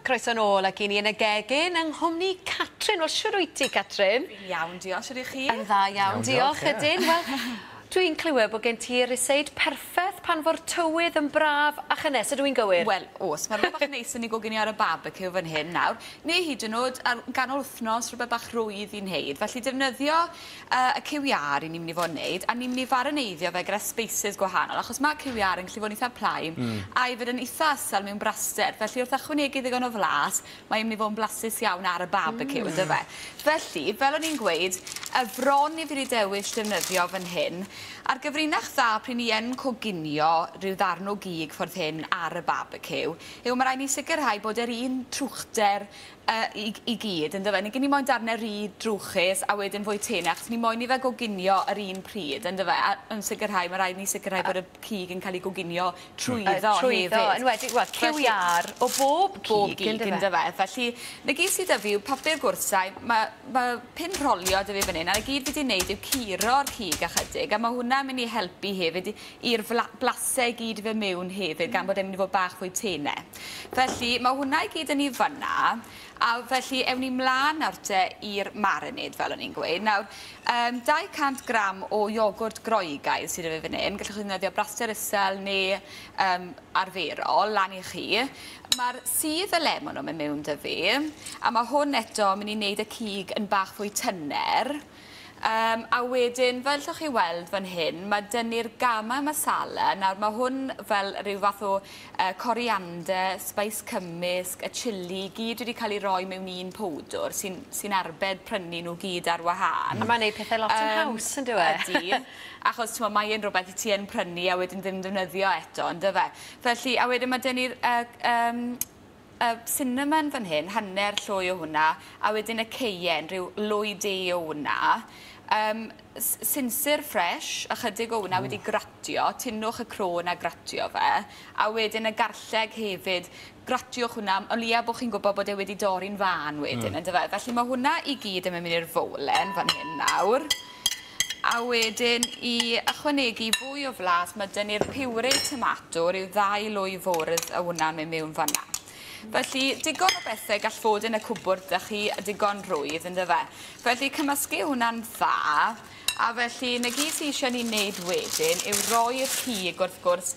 Croeso nôl ac i ni yn y gegin yng nghwmni Catrin. Wel, shwd wyt ti, Catrin? Fi'n iawn, diolch. Shwd 'ych chi? Yn dda iawn, diolch. Ydyn. Wel, dwi'n clywed bod gen ti ryseid perffeth pan fo'r tywydd yn braf a chynnes. Ydw i'n gywir? Wel, o's. Ma' rwbeth bach neis yn 'i goginio ar y barbeciw fan hyn nawr. Neu hyd yn o'd ar ganol wthnos, rhywbeth bach rhwydd i wneud. Felly defnyddio y cyw iâr 'yn ni myn' i fod yn neud, a ni myn' i farineiddio fe gyda spices gwahanol, achos ma' cyw iâr yn gallu fod yn itha plaen a hefyd yn itha ysel mewn braster. Felly wrth ychwanegu ddigon o flas, mae e'n myn' i fod yn blasus iawn ar y barbeciw, on'd yfe? Felly, fel o'n i'n gweud, y fron i fi 'di dewis defnyddio fan hyn, a'r gyfrinach dda pryd ni yn coginio rhyw ddarn o gig ffordd hyn ar y barbeciw, yw ma' raid ni sicrhau bod yr un trwchder i gyd, yndyfe? Nag 'yn ni moyn darne rhy drwchus a wedyn fwy tene, achos ni moyn i fe goginio yr un pryd, yndyfe? A yn sicrhau, ma' raid ni sicrhau bod y cig yn cael ei goginio trwyddo trwyddo, hefyd. Enwedig, wel, cyw iâr o bob cig, Bob gig, yndyfe? Felly, 'na gyd sy 'da fi yw papur gwrthsain, ma' pin rholio 'da fi fan 'yn, a 'na gyd fi 'di neud yw curo'r cig ychydig, a ma' hwnna'n mynd i helpu hefyd i'r blase i gyd i fynd mewn hefyd, gan bod e'n mynd i fod bach fwy tene. Felly, ma' hwnna i gyd yn 'i fan'na, a felly ewn ni mlan nawr te i'r marinade, fel o'n i'n gweud. Nawr, 200 gram o iogwrt Groegaidd sydd 'da fi fan hyn. Gallwch chi ddefnyddio braster isel neu arferol, lan i chi. Ma'r sudd y lemon o'n mynd mewn 'da fi, a ma' hwn eto yn mynd i wneud y cig yn bach fwy tyner. A wedyn, fel allwch chi weld fan hyn, ma' 'da ni'r garam masala. Nawr, ma' hwn fel rhyw fath o coriander, spice cymysg, y chilli, gyd wedi cael ei roi mewn un powdwr sy arbed prynu nhw gyd ar wahân. A mae'n neud pethau lot yn haws, yn dyw e? Ydy, achos t'mo, mae e'n rhywbeth i ti yn prynu a wedyn ddim defnyddio eto, yndyfe? Felly, a wedyn ma' 'da ni'r cinnamon fan hyn, hanner llwy o hwnna, a wedyn y cayenne, rhyw lwy de o hwnna. Sinsir fresh, ychydig o hwnna wedi gratio, tynnwch y croen a gratio fe, a wedyn y garlleg hefyd, gratiwch hwnna, o leia bod chi'n gwybod bod e wedi dorri'n fân wedyn, yndyfe? Felly mae hwnna i gyd yn mynd i'r fowlen fan hyn nawr. A wedyn i ychwanegu fwy o flas, mae 'da ni'r puree tomato, rhyw 2 lwy fwrdd o hwnna'n mynd mewn fan'na. Felly, digon o bethau gall fod yn y cwpwrdd 'da chi, a digon rhwydd, yndyfe? Felly, cymysgu hwnna'n dda, a felly, 'na gyd sy eisiau ni wneud wedyn yw roi'r cig, wrth gwrs,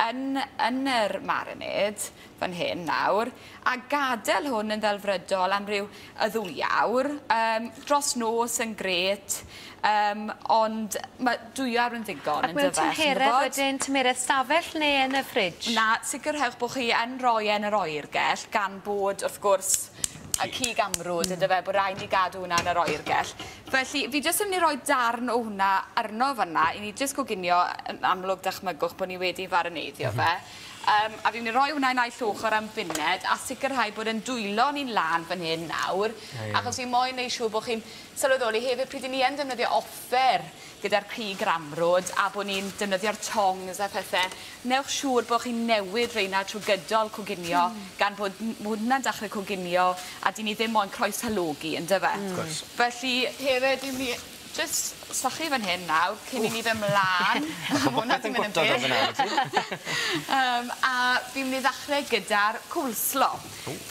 yn yr marinade fan hyn nawr, a gadael hwn yn ddelfrydol am ryw y 2 awr. Dros nos yn grêt, ond mae 2 awr yn ddigon, Ac mewn yndyfe, chi'n tymheredd gwbod? wedyn, tymheredd stafell neu yn y fridge? Na, sicrhewch bod chi yn rhoi e yn yr oergell, gan bod, wrth gwrs, y cig amrwd, yndyfe, bod rhaid ni gadw hwnna yn yr oergell. Felly, fi jyst yn mynd i roi darn o hwnna arno fan'na, i ni jyst coginio, yn amlwg dychmygwch bod ni wedi farineiddio fe. A fi'n mynd i roi hwnna i naill ochr am funed, a sicrhau bod yn dwylo ni'n lân fan hyn nawr, achos fi moyn neud siŵr bod chi'n sylweddoli hefyd pryd 'yn ni yn defnyddio offer gyda'r cig amrwd a bod ni'n defnyddio'r tongs a phethe, newch siŵr bod chi'n newid reina trwy gydol coginio, gan bod hwnna'n dechrau coginio a 'dyn ni ddim moyn croeshalogi, yndyfe? Wrth gwrs. Felly, hefyd, fi'n mynd i jyst sychu fan hyn nawr, cyn i ni fynd mlaen. Ma' popeth yn gwttod o fyna, wyt ti? A fi'n mynd i ddechrau gyda'r coleslaw.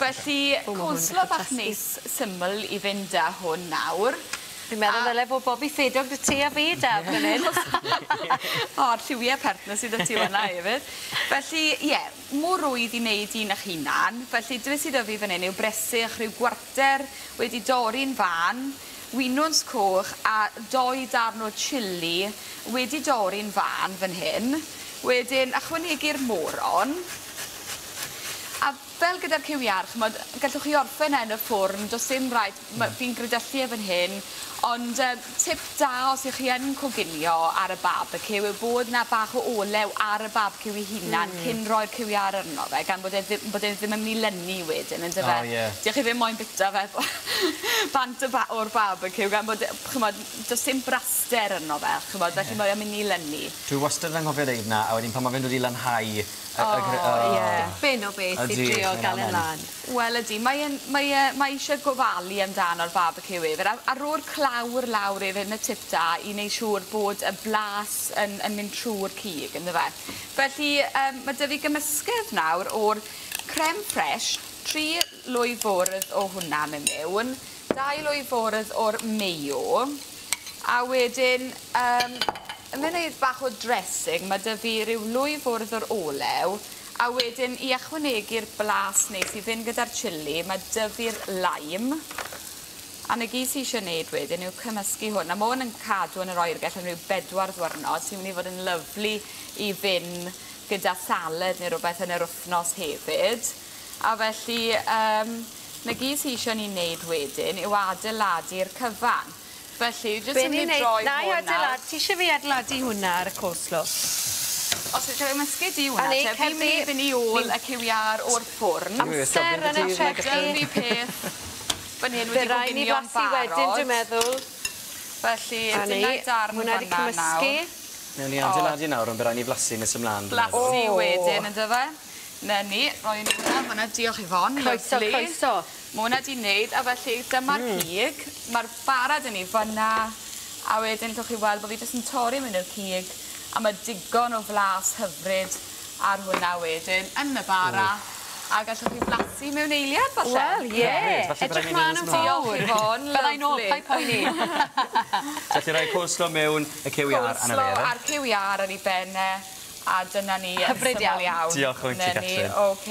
Felly, O, ma' hwn yn coleslaw dechrau bach tasgu. neis syml i fynd â hwn nawr. Fi'n meddwl ddyle fod bobi ffedog 'da ti a fi, Daf, fan hyn. O, a'r lliwie pert 'na sydd 'da ti fan'na hefyd. Felly, ie, mor rwydd i wneud un eich hunan. Felly, beth sydd 'da fi fan hyn yw bresych rhyw gwarter wedi dorri'n fân, winwns coch a doi darn o chilli wedi dorri'n fân fan hyn. Wedyn, ychwanegu'r moron. A fel gyda'r cyw iâr, ch'mod, gallwch chi orffen e yn y ffwrn, does dim raid, fi'n gridyllu e fan hyn, ond tip da os ych chi yn coginio ar y barbeciw yw bod 'na bach o olew ar y barbeciw ei hunan cyn roi'r cyw iâr arno fe, gan bod e ddim yn mynd i lynu wedyn, yndyfe? O, ie. Dych chi ddim moyn bita fe bant y o'r barbeciw, gan bod, ch'mod, does dim braster arno fe, ch'mod, felly mae o'n mynd i lynu. Dwi wastad yn anghofio deud 'na, a wedyn pan ma' fe'n dod i lanhau O, ie. Dipyn o beth i drio mae'n gael e'n amen. lan. Wel ydi, mae eisiau gofalu amdano'r barbeciw hefyd, a ro'r clawr lawr hefyd yn y tip da i wneud siŵr bod y blas yn mynd trwy'r cig, yndyfe. Felly, mae 'da fi gymysgedd nawr o'r creme fraiche. 3 lwy fwrdd o hwnna mewn mewn, 2 lwy fwrdd o'r mayo, a wedyn yn mynd i bach o dressing, ma' 'dy fi ryw lwy fwrdd o'r olew, a wedyn i ychwanegu'r blas neis i fynd gyda'r chilli, ma' 'dy fi'r lime. A 'na gyd sy isie neud wedyn yw cymysgu hwn, a ma' 'wn yn cadw yn yr oergell am ryw 4 ddiwrnod, sy'n myn' i fod yn lyfli i fynd gyda salad neu rwbeth yn yr wthnos hefyd. A felly 'na gyd sy isie ni neud wedyn yw adeiladu'r cyfan. Felly jyst yn mynd i droi hwn nawr. Na i adeiladu, ti isie fi adeiladu hwnna ar y coleslaw? Os wyt ti'n gymysgu di hwnna te, fi'n mynd i fynd i ôl y cyw iâr o'r ffwrn. Amser yn y trechu. Dyna peth fan hyn wedi coginio'n barod. Wedyn, dwi'n meddwl. Felly, dyna darn hwnna wedi cymysgu. Newn ni adeiladu nawr, ond bydd rhaid ni flasu nes ymlaen. Blasu wedyn, yndyfe? Na ni, roi ni hwnna fan'na, diolch Yvonne. Croeso, croeso. Ma' hwnna 'di neud, a felly dyma'r cig. Ma'r bara 'da ni fan'na, a wedyn allwch chi weld bo' fi jyst yn torri mewn i'r cig, a ma' digon o flas hyfryd ar hwnna wedyn yn y bara. A gallwch chi flasu mewn eiliad falle. Wel, ie. Edrych mlaen yn fawr. Diolch Yvonne, Byddai nôl, paid poeni. Felly rhoi coleslaw mewn, y cyw iâr arno fe, ife? Coleslaw a'r cyw iâr ar ei ben e, a dyna ni. Hyfryd iawn. Diolch o ti, Catrin. Ocê.